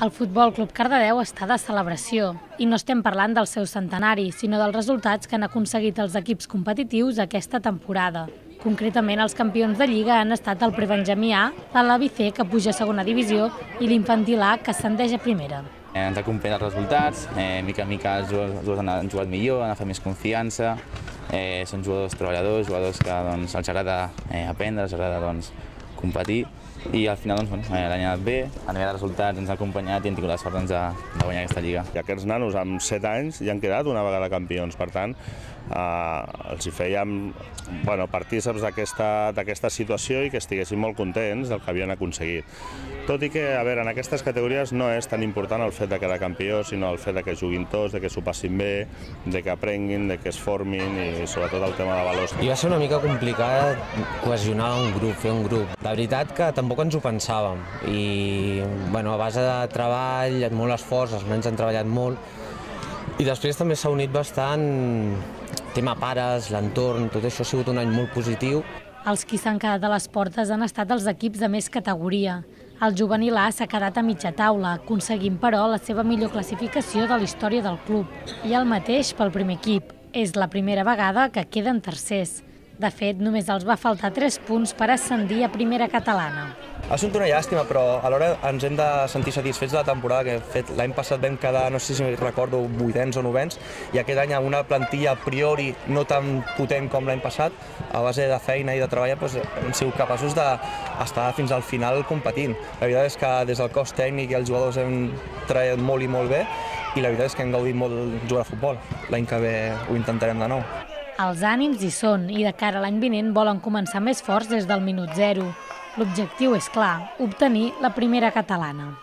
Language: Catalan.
El Futbol Club Cardedeu està de celebració i no estem parlant del seu centenari, sinó dels resultats que han aconseguit els equips competitius aquesta temporada. Concretament, els campions de Lliga han estat el Prebenjamí A, l'Alavi C, que puja a segona divisió, i l'Infantil A, que ascendeix a primera. Ens acompanyen els resultats, mica en mica els jugadors han jugat millor, han agafat més confiança, són jugadors treballadors, jugadors que els agrada aprendre, els agrada competir, i al final l'any ha anat bé, a nivell de resultats ens ha acompanyat i hem tingut la sort de guanyar aquesta Lliga. I aquests nanos amb 7 anys ja han quedat una vegada campions, per tant els hi fèiem partícips d'aquesta situació i que estiguessin molt contents del que havien aconseguit. Tot i que, a veure, en aquestes categories no és tan important el fet de quedar campió, sinó el fet de que juguin tots, de que s'ho passin bé, de que aprenguin, de que es formin i sobretot el tema de valors. I va ser una mica complicat cohesionar un grup, fer un grup. La veritat que tampoc ens ho pensàvem i a base de treball, molt esforç, els nens han treballat molt i després també s'ha unit bastant tema pares, l'entorn, tot això ha sigut un any molt positiu. Els qui s'han quedat a les portes han estat els equips de més categoria. El juvenil A s'ha quedat a mitja taula, aconseguint, però, la seva millor classificació de la història del club. I el mateix pel primer equip. És la primera vegada que queden tercers. De fet, només els va faltar 3 punts per ascendir a primera catalana. Ha sigut una llàstima, però alhora ens hem de sentir satisfets de la temporada que hem fet. L'any passat vam quedar, no sé si recordo, 8ens o 9ens, i aquest any amb una plantilla a priori no tan potent com l'any passat, a base de feina i de treball, hem sigut capaços d'estar fins al final competint. La veritat és que des del cos tècnic i els jugadors hem treballat molt i molt bé, i la veritat és que hem gaudit molt jugar a futbol. L'any que ve ho intentarem de nou. Els ànims hi són i de cara a l'any vinent volen començar més forts des del minut 0. L'objectiu és clar, obtenir la primera catalana.